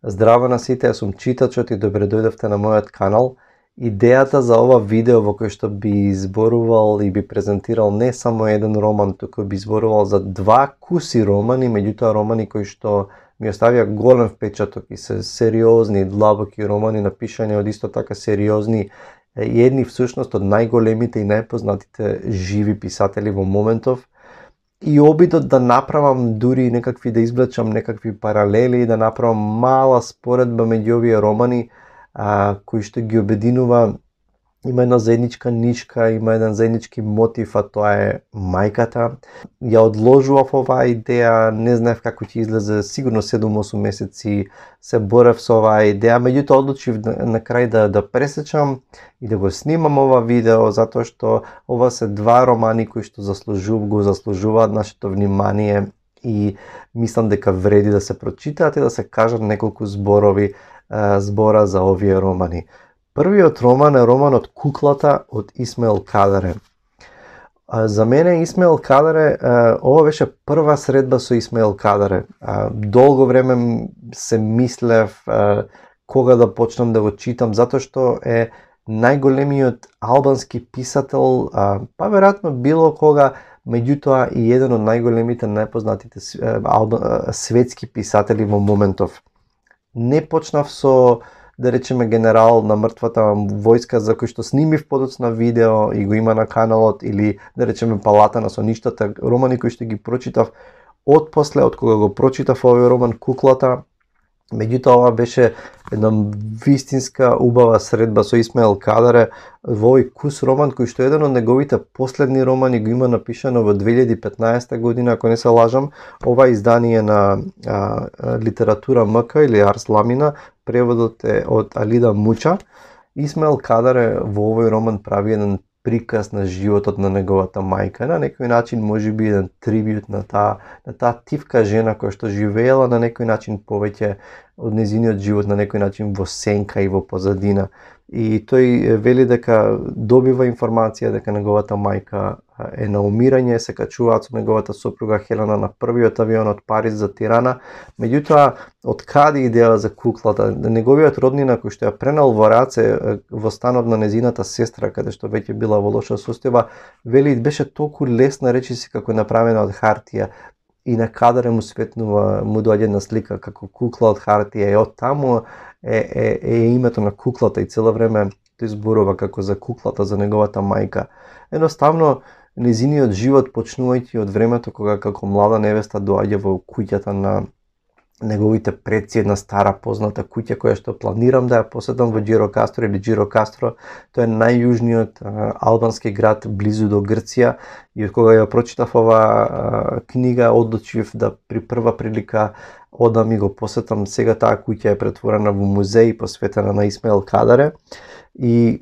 Здраво на сите, јас сум читачот и добре дојдовте на мојот канал. Идејата за ова видео во кој што би изборувал и би презентирал не само еден роман, туку би изборувал за два куси романи, меѓутоа романи кои што ми оставија голем впечаток и се сериозни, длабоки романи напишани од исто така сериозни и едни всушност од најголемите и најпознатите живи писатели во моментов. И обидот да направам дури некакви, да извлечам некакви паралели и да направам мала споредба меѓу овие романи кои што ги обединува. Има една заедничка нишка, има еден заеднички мотив, а тоа е мајката. Ја одложував оваа идеја, не знаев како ќе излезе, сигурно 7-8 месеци се борев со оваа идеја, меѓутоа одлучив на крај да пресечам и да го снимам ова видео, затоа што ова се два романи кои што го заслужуваат нашето внимание и мислам дека вреди да се прочитаат и да се кажат неколку збора за овие романи. Првиот роман е романот Куклата од Исмаил Кадаре. За мене Исмаил Кадаре, ова беше прва средба со Исмаил Кадаре. Долго време се мислев кога да почнам да го читам, затоа што е најголемиот албански писател, па веројатно било кога, меѓутоа и еден од најголемите, најпознатите светски писатели во моментов. Не почнав со, да речеме, Генерал на мртвата војска, за кој што снимив подоцна видео и го има на каналот, или да речеме Палата на соништата, романи кои што ги прочитав отпосле, од кога го прочитав овој роман Куклата. Меѓутоа ова беше една вистинска убава средба со Исмаил Кадаре во овој кус роман кој што еден од неговите последни романи го има напишано во 2015 година, ако не се лажам. Ова издание на Литература МК или Арс Ламина, преводот е од Алида Муча. Исмаил Кадаре во овој роман прави еден приказ на животот на неговата мајка, на некој начин можеби еден трибют на таа тивка жена која што живеела на некој начин повеќе од незиниот живот, на некој начин во сенка и во позадина. И тој вели дека добива информација дека неговата мајка е на умирање, се качуваат со неговата сопруга Хелена на првиот авион од Париз за Тирана. Меѓутоа, од каде идеја за Куклата? Неговиот роднина кој што ја пренел во раце во станот на незината сестра, каде што веќе била во лоша состојба, вели беше толку лесна, речиси како направена од хартија. И на Кадаре му светнува, му доаѓа една слика како кукла од хартија, и од таму е името на Куклата и цело време тој зборува како за куклата, за неговата мајка. Едноставно, незиниот живот почнувајќи од времето кога како млада невеста доаѓа во куќата на неговите предци, една стара позната куќа која што планирам да ја посетам во Џирокастро или Џирокастро. Тоа е најјужниот албански град близу до Грција, и од кога ја прочитав ова книга одлучив да при прва прилика одам и го посетам. Сега таа куќа е претворена во музеј посветена на Исмаил Кадаре и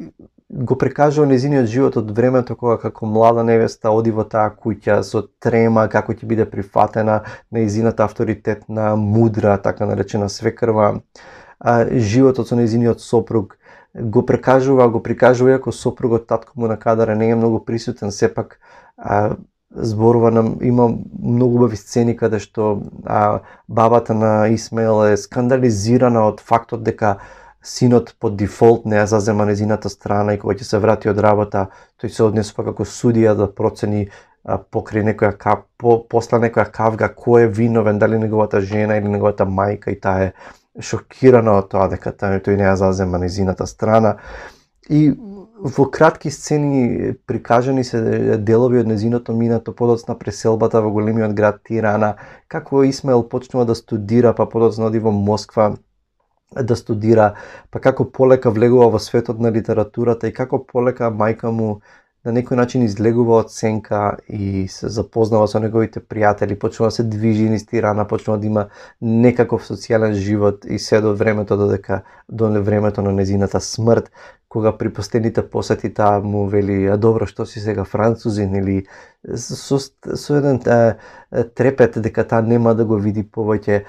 го прекажува незиниот живот од времето кога како млада невеста оди во таа куќа со трема како ќе биде прифатена, незината авторитетна, мудра, така наречена свекрва. Животот со незиниот сопруг го прикажува иако сопругот, татко му на Кадаре, не е многу присутен, сепак зборува нам, има многу убави сцени каде што бабата на Исмаил е скандализирана од фактот дека синот по дефолт не ја зазема незината страна и кога ќе се врати од работа, тој се однесува како судија да процени покрај после некоја кавга кој е виновен, дали неговата жена или неговата мајка, и таа е шокирана од тоа дека тој не ја зазема незината страна. И во кратки сцени прикажани се делови од незиното минато, подоцна преселбата во големиот град Тирана, како Исмаил почнува да студира, па подоцна оди во Москва да студира, па како полека влегува во светот на литературата и како полека мајка му на некој начин излегува од сенка и се запознава со неговите пријатели, почнува да се движи низ Тирана, почнува да има некаков социјален живот и се до времето до времето на незината смрт, кога при последните посети таа му вели: "А добро, што си сега французин?" или со еден трепет дека таа нема да го види повеќе.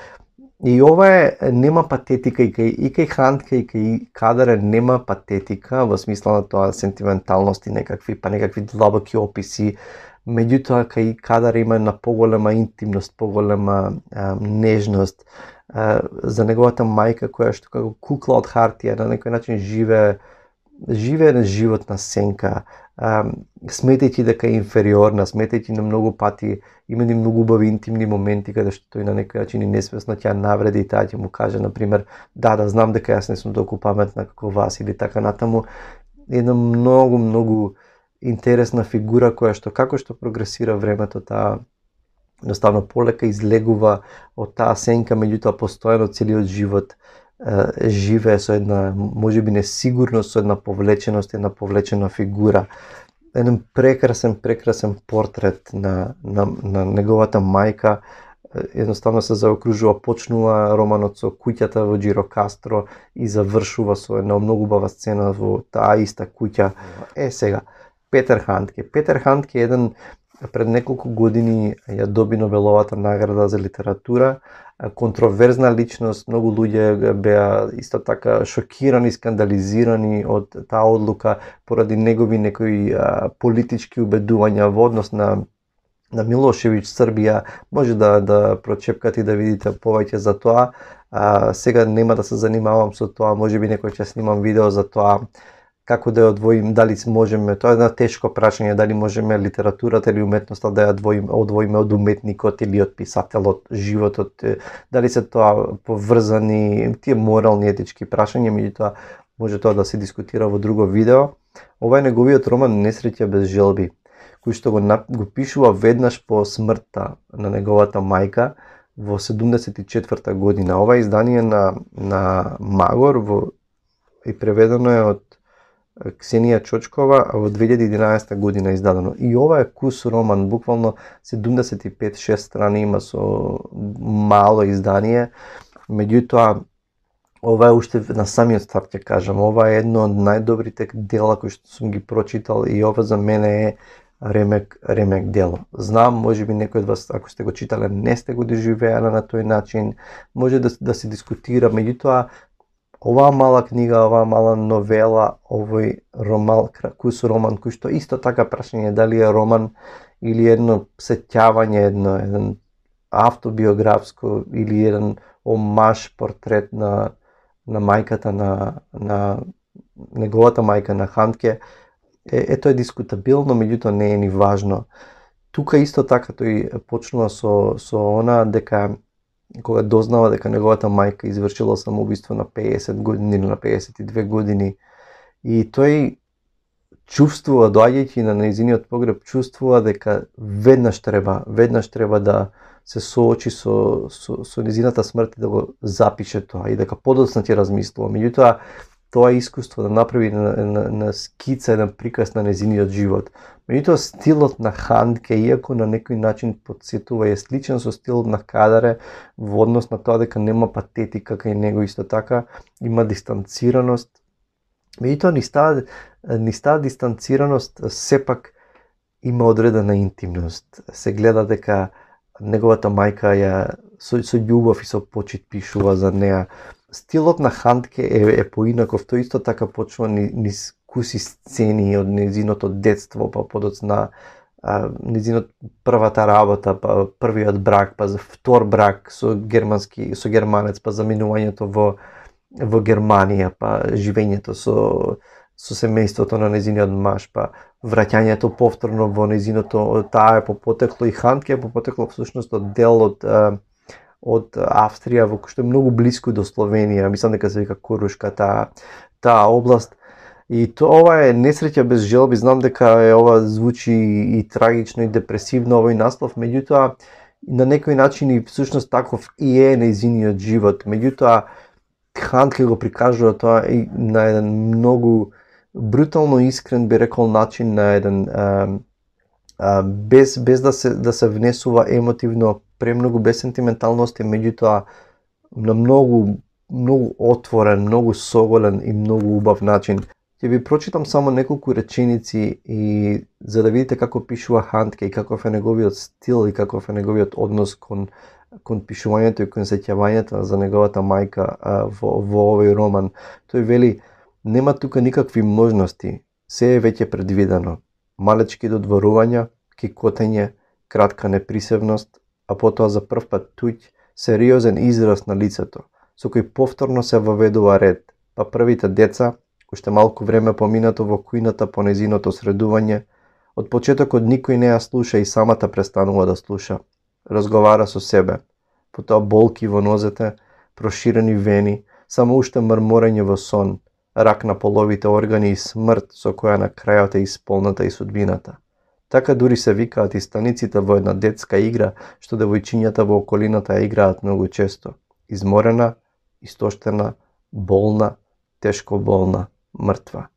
И ова нема патетика и кај Хандке и кај Кадаре нема патетика во смисла на тоа сентименталности некакви длабоки описи. Меѓутоа кај Кадаре има една поголема интимност, поголема нежност, за неговата мајка која што како кукла од хартија на некој начин живее на животна сенка, сметајќи дека е инфериорна, сметајќи на многу пати има многу убави интимни моменти каде што тој на некој начин и несвесно ќе навреди и таа ќе му каже на пример да знам дека јас не сум толку паметна како вас или така натаму. Една многу интересна фигура која што како што прогресира времето таа едноставно полека излегува од таа сенка, меѓутоа постојано целиот живот живее со една можеби несигурност, со една повлеченост, една повлечена фигура. Еден прекрасен портрет на неговата мајка. Едноставно се заокружува, почнува романот со куќата во Џирокастро и завршува со една многу убава сцена во таа иста куќа. Сега, Петер Хандке. Петер Хандке еден пред неколку години ја доби Нобеловата награда за литература, контроверзна личност, многу луѓе беа исто така шокирани, скандализирани од таа одлука поради негови некои политички убедувања во однос на Милошевиќ, Србија. Може да прочепкате и да видите повеќе за тоа. Сега нема да се занимавам со тоа, можеби некој ќе снимам видео за тоа како да ја одвоим, дали можеме, тоа е една тешко прашање, дали можеме литературата или уметноста да ја одвоиме од уметникот или од писателот, животот, дали се тоа поврзани, тие морални, етички прашања, меѓутоа може тоа да се дискутира во друго видео. Ова е неговиот роман Несреќа без желби, кој што го пишува веднаш по смртта на неговата мајка во 74-та година. Ова издание на Магор и преведено е од Ксенија Чочкова во 2011 година издадено. И ова е кус роман, буквално 75-6 страни има со мало издание. Меѓутоа, ова е уште на самиот старт ќе кажам, ова е едно од најдобрите дела кои што сум ги прочитал и ова за мене е ремек дело. Знам, можеби некој од вас, ако сте го читале, не сте го доживеале на тој начин, може да се дискутира, меѓутоа оваа мала книга, оваа мала новела, овој кус роман, кој што исто така прашање дали е роман или едно сеќавање, еден автобиографско или еден омаж портрет на мајката на неговата мајка на Хандке, ето е дискутабилно, меѓутоа не е ни важно. Тука исто така тој почнува со она дека кога дознава дека неговата мајка извршила самоубиство на 50 години или на 52 години и тој чувствува, доаѓајќи на нејзиниот погреб, чувствува дека веднаш треба да се соочи со нејзината смрт и да го запише тоа и дека подоцна ќе размислува. Меѓутоа, тоа искуство да направи на скица, еден приказ на нејзиниот живот. Меѓутоа, стилот на Хандке, иако на некој начин подсетува, е сличен со стилот на Кадаре во однос на тоа дека нема патетика кај него, исто така има дистанцираност. Меѓутоа, ни става дистанцираност, сепак има одредена интимност. Се гледа дека неговата мајка со љубов и со почит пишува за неа. Стилот на Хандке е поинаков, тој исто така почнува низ куси сцени од нејзиното детство, па подоцна нејзинот првата работа, па првиот брак, па за втор брак со германец, па заминувањето во Германија, па живењето со семејството на нејзиниот маж, па враќањето повторно во нејзиното, таа е по потекло и Хандке е по потекло всушност од дел од Австрија, во кој што е многу блиску до Словенија, мислам дека се вика Корушка таа област. И ова е Несреќа без желби, знам дека ова звучи и трагично и депресивно овој наслов, меѓутоа на некој начин и всушност таков и е нејзиниот живот. Меѓутоа Хандке го прикажува тоа и на еден многу брутално искрен, би рекол, начин, на еден без да се внесува емотивно, премногу без сентименталности, меѓутоа на многу отворен, многу соголен и многу убав начин. Ќе ви прочитам само неколку реченици и за да видите како пишува Хандке и каков е неговиот стил и каков е неговиот однос кон пишувањето и кон сеќавањето за неговата мајка во овој роман. Тој вели: нема тука никакви можности, се е веќе предвидено. Малечки додворувања, кикотење, кратка неприсевност, а потоа за прв пат туѓ, сериозен израз на лицето, со кој повторно се воведува ред, па првите деца, уште малку време поминато во кујната по незиното средување, од почетокот никој не ја слуша и самата престанува да слуша. Разговара со себе, потоа болки во нозете, проширени вени, само уште мрморење во сон, рак на половите органи и смрт со која на крајот е исполната и судбината. Така дури се викаат и станиците во една детска игра што девојчињата во околината ја играат многу често. Изморена, истоштена, болна, тешко болна, мртва.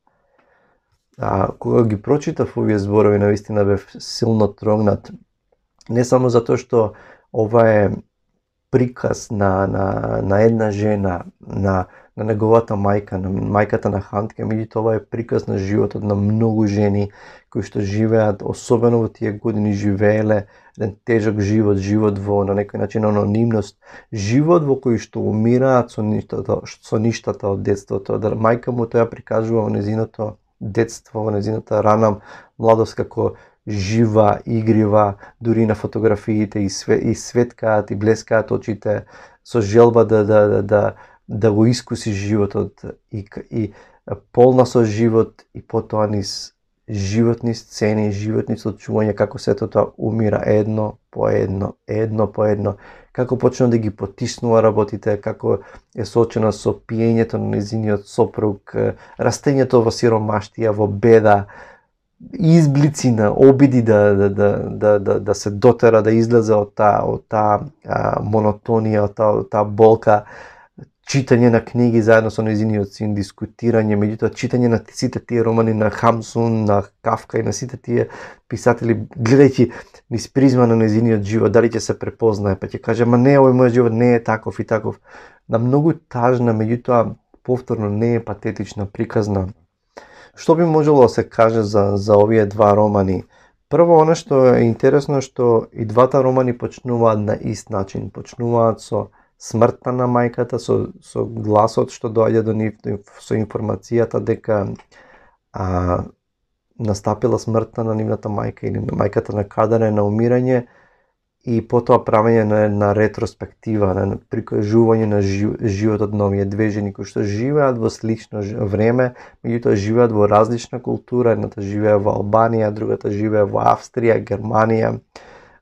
Кога ги прочитав овие зборови, навистина бев силно трогнат. Не само затоа што ова е приказ на една жена, на неговата мајка, на мајката на Хантке, меѓутоа ова е приказ на животот на многу жени кои што живеат, особено во тие години живееле еден тежок живот, живот во на некој начин анонимност, живот во кој што умираат со ништата од детството. Да мајка му тоа прикажува во незиното детство, во незината рана младост како жива, игрива, дури на фотографиите и светкаат и блескаат очите со желба да го искуси животот и полна со живот и потоа низ животни сцени, животни случувања како сето тоа умира едно по едно, како почна да ги потиснува работите, како е соочена со пиењето на незиниот сопруг, растењето во сиромаштија, во беда, изблици на обиди да се дотера, да излезе од таа монотонија, од таа болка, читање на книги заедно со незиниот син, дискутирање, меѓутоа читање на сите тие романи на Хамсун, на Кафка и на сите тие писатели, гледајќи низ призма на незиниот живот, дали ќе се препознае, па ќе каже, ма не, овој мојот живот не е таков и таков. На многу тажна, меѓутоа повторно не е патетична, приказна. Што би можело да се каже за овие два романи? Прво, она што е интересно, што и двата романи почнуваат на ист начин, почнуваат со смртта на мајката, со гласот што доаѓа до нив, со информацијата дека настапила смртта на нивната мајка или на мајката на Кадар на умирање, и потоа правење на ретроспектива, на прикажување на животот на овие две жени кои што живеат во слично време, меѓутоа живеат во различна култура, едната живее во Албанија, другата живее во Австрија, Германија,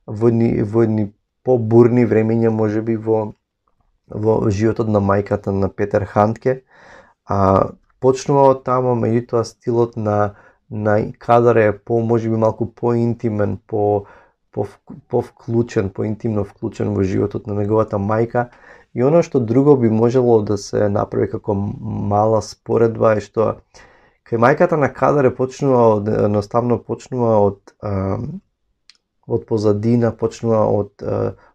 во едни побурни времења можеби во животот на мајката на Петер Хантке. Почнува од тамо, меѓутоа стилот на Кадар е можеби малку поинтимен, повклучен, поинтимно вклучен во животот на неговата мајка. И оно што друго би можело да се направи како мала споредба е што кај мајката на Кадар едноставно почнува од позадина, почнува од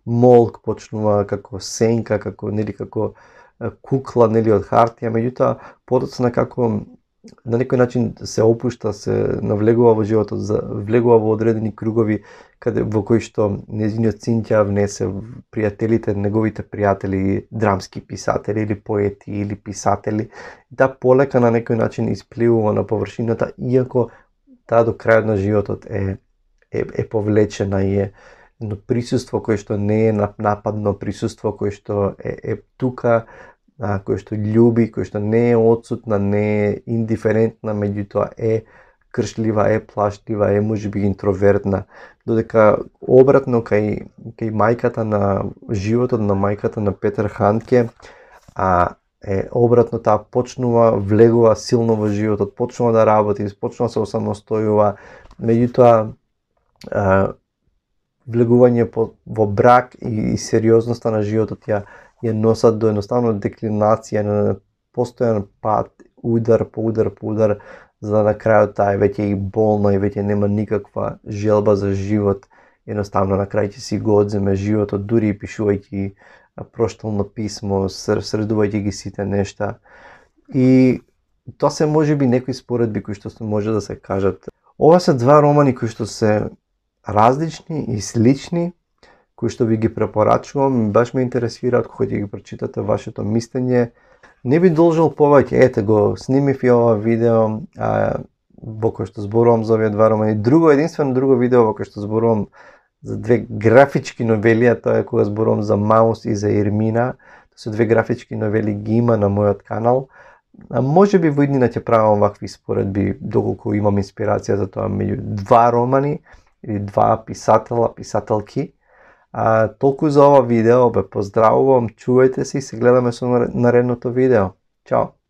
молк, почнува како сенка, како кукла, од хартија, меѓутоа подоцна како на некој начин се опушта, се навлегува во животот, влегува во одредени кругови во кои што незиниот син ќе внесе пријателите, неговите пријатели, драмски писатели или поети или писатели. Да полека на некој начин испливува на површината, иако таа до крајот на животот е повлечена и е едно присуство кое што не е нападно, присуство кое што е тука, кој што љуби, кој што не е отсутна, не е индиферентна, меѓутоа е кршлива, е плашлива, е можеби интровертна, додека обратно кај мајката на животот на мајката на Петер Хантке е обратно, таа почнува, влегува силно во животот, почнува да работи, почнува да се осамостојува, меѓутоа влегување во брак и сериозноста на животот ја носат до едноставно деклинација, на постојан пат, удар по удар, за да на крајот таа веќе и болна и веќе нема никаква желба за живот, едноставно на крај ќе си го одземе животот, дури и пишувајќи проштално писмо, средувајќи ги сите нешта. И тоа се можеби некои споредби кои што може да се кажат. Ова се два романи кои што се различни и слични, кои што ви ги препорачувам, баш ме интересираат кога ќе ги прочитате вашето мислење. Не би должел повеќе, ете го, снимив и ова видео во кој што зборувам за овие два романи. Единствено друго видео во кој што зборувам за две графички новели, а тоа е кога зборувам за Маус и за Ермина. Тоа се две графички новели, ги има на мојот канал. А може би во иднина ќе правам вакви споредби, доколку имам инспирација за тоа, меѓу два романи или два писатела, писателки. Толку за ова видео, ве поздравувам, чувајте се и се гледаме со наредното видео. Чао!